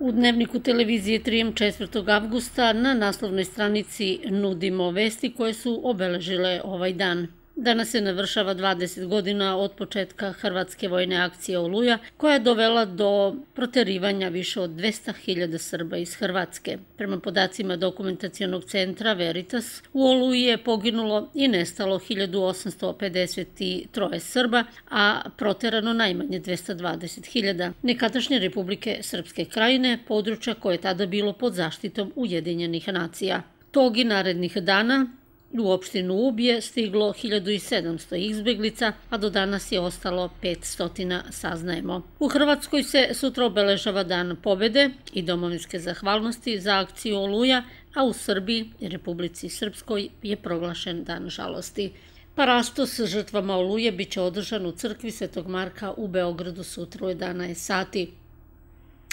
U dnevniku televizije Trijem 4. avgusta na naslovnoj stranici nudimo vesti koje su obeležile ovaj dan. Danas se navršava 20 godina od početka hrvatske vojne akcije Oluja, koja je dovela do proterivanja više od 200.000 Srba iz Hrvatske. Prema podacima dokumentacionog centra Veritas, u Oluji je poginulo i nestalo 1853 Srba, a proterano najmanje 220.000. Nekadašnje Republike Srpske Krajine, područja koje je tada bilo pod zaštitom Ujedinjenih nacija. Tog i narednih dana u opštinu Ub je stiglo 1700 izbeglica, a do danas je ostalo 500, saznajemo. U Hrvatskoj se sutra obeležava Dan pobede i domovinske zahvalnosti za akciju Oluja, a u Srbiji i Republici Srpskoj je proglašen Dan žalosti. Parastos s žrtvama Oluje biće održan u crkvi Svetog Marka u Beogradu sutra u 11 sati.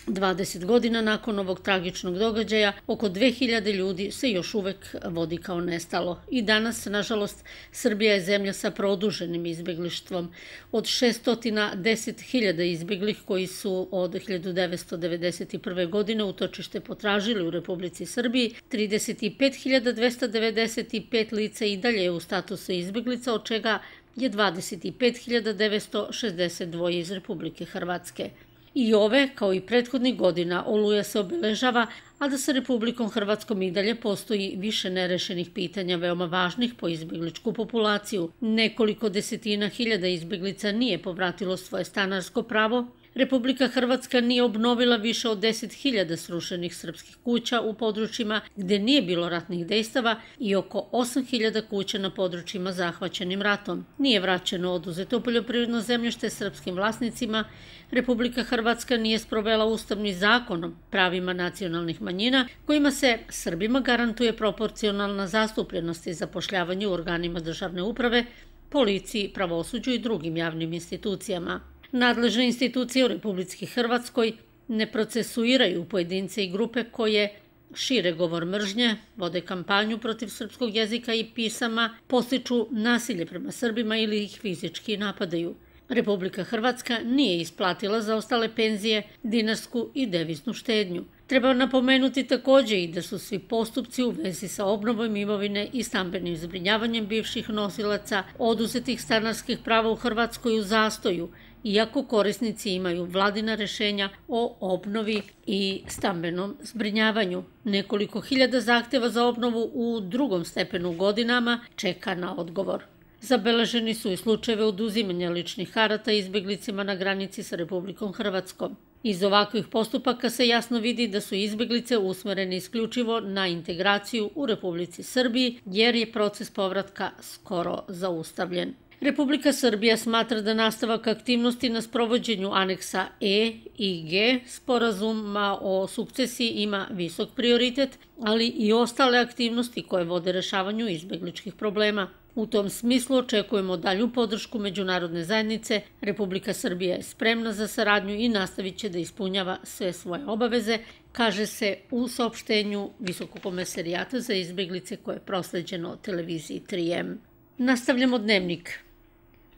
20 godina nakon ovog tragičnog događaja, oko 2000 ljudi se još uvek vodi kao nestalo. I danas, nažalost, Srbija je zemlja sa produženim izbeglištvom. Od 610.000 izbeglih koji su od 1991. godine utočište potražili u Republici Srbiji, 35.295 lica i dalje je u statusu izbeglica, od čega je 25.962 iz Republike Hrvatske. I ove, kao i prethodnih godina, Oluja se obeležava, a da sa Republikom Hrvatskom i dalje postoji više nerešenih pitanja veoma važnih po izbegličku populaciju. Nekoliko desetina hiljada izbeglica nije povratilo svoje stanarsko pravo, Republika Hrvatska nije obnovila više od 10.000 srušenih srpskih kuća u područjima gde nije bilo ratnih dejstava i oko 8.000 kuća na područjima zahvaćenim ratom. Nije vraćeno oduzeto poljoprivredno zemljište srpskim vlasnicima, Republika Hrvatska nije sprovela ustavni zakon o pravima nacionalnih manjina, kojima se Srbima garantuje proporcionalna zastupljenost i zapošljavanje u organima državne uprave, policiji, pravosuđu i drugim javnim institucijama. Nadležne institucije u Republici Hrvatskoj ne procesuiraju pojedince i grupe koje šire govor mržnje, vode kampanju protiv srpskog jezika i pisama, podstiču nasilje prema Srbima ili ih fizički napadaju. Republika Hrvatska nije isplatila zaostale penzije, dinarsku i deviznu štednju. Treba napomenuti takođe i da su svi postupci u vezi sa obnovom imovine i stambenim zbrinjavanjem bivših nosilaca oduzetih stanarskih prava u Hrvatskoj u zastoju, iako korisnici imaju vladina rešenja o obnovi i stambenom zbrinjavanju. Nekoliko hiljada zahteva za obnovu u drugom stepenu godinama čeka na odgovor. Zabeleženi su i slučajeve oduzimanja ličnih karata izbeglicima na granici sa Republikom Hrvatskom. Iz ovakvih postupaka se jasno vidi da su izbeglice usmerene isključivo na integraciju u Republici Srbiji, jer je proces povratka skoro zaustavljen. Republika Srbija smatra da nastavak aktivnosti na sprovođenju aneksa E i G sporazuma o sukcesiji ima visok prioritet, ali i ostale aktivnosti koje vode rešavanju izbegličkih problema. U tom smislu očekujemo dalju podršku međunarodne zajednice. Republika Srbija je spremna za saradnju i nastavit će da ispunjava sve svoje obaveze, kaže se u saopštenju Visokog komesarijata za izbeglice koje je prosleđeno televiziji 3M. Nastavljamo dnevnik.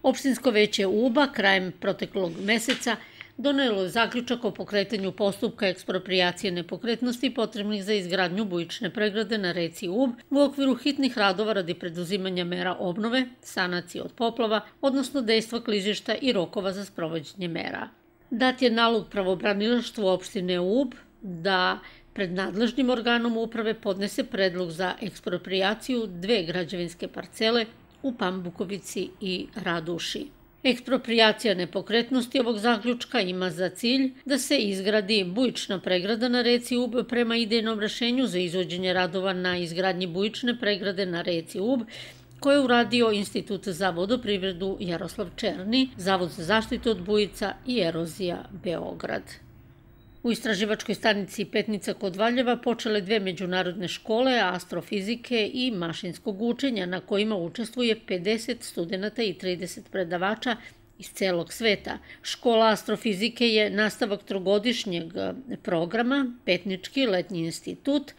Opštinsko veće Uba krajem proteklog meseca donelo je zaključak o pokretanju postupka eksproprijacije nepokretnosti potrebnih za izgradnju bujične pregrade na reci Ub u okviru hitnih radova radi preduzimanja mera obnove, sanacije od poplava, odnosno dejstva klizišta i rokova za sprovođenje mera. Dat je nalog pravobranilaštvu opštine Ub da pred nadležnim organom uprave podnese predlog za eksproprijaciju dve građevinske parcele u Pambukovici i Raduši. Eksproprijacija nepokretnosti ovog zaključka ima za cilj da se izgradi bujična pregrada na reci Ub prema idejnom rešenju za izvođenje radova na izgradnji bujične pregrade na reci Ub, koje je uradio Institut za vodoprivredu Jaroslav Černi, Zavod za zaštitu od bujica i erozija Beograd. U istraživačkoj stanici Petnica kod Valjeva počele dve međunarodne škole astrofizike i mašinskog učenja na kojima učestvuje 50 studenta i 30 predavača iz celog sveta. Škola astrofizike je nastavak trogodišnjeg programa, Petnički letnji institut,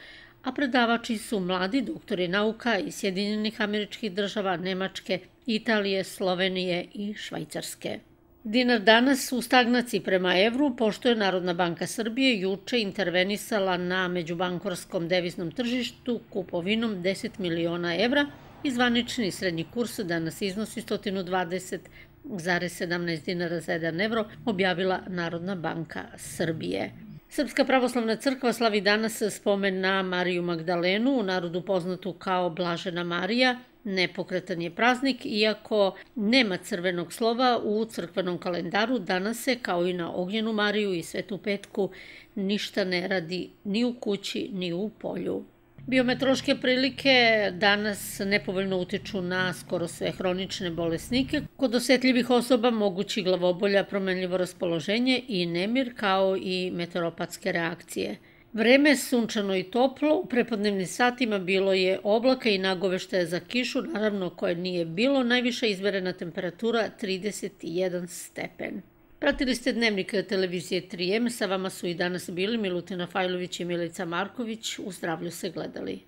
a predavači su mladi doktori nauka iz Sjedinjenih Američkih Država, Nemačke, Italije, Slovenije i Švajcarske. Dinar danas u stagnaciji prema evru, pošto je Narodna banka Srbije juče intervenisala na međubankarskom deviznom tržištu kupovinom 10 miliona evra i zvanični srednji kurs danas iznosi 120,17 dinara za 1 evro, objavila Narodna banka Srbije. Srpska pravoslavna crkva slavi danas spomen na Mariju Magdalenu, u narodu poznatu kao Blažena Marija. Nepokretan je praznik, iako nema crvenog slova u crkvenom kalendaru, danas se, kao i na Ognjenu Mariju i Svetu Petku, ništa ne radi ni u kući, ni u polju. Biometeorološke prilike danas nepovoljno utiču na skoro sve hronične bolesnike. Kod osetljivih osoba mogući glavobolja, promenljivo raspoloženje i nemir, kao i meteoropatske reakcije. Vreme je sunčano i toplo, u prepodnevnim satima bilo je oblaka i nagoveštaja za kišu, naravno koje nije bilo, najviša izmerena temperatura 31 stepen. Pratili ste Dnevnik televizije 3M, sa vama su i danas bili Milutina Fajlović i Milica Marković, u zdravlju se gledali.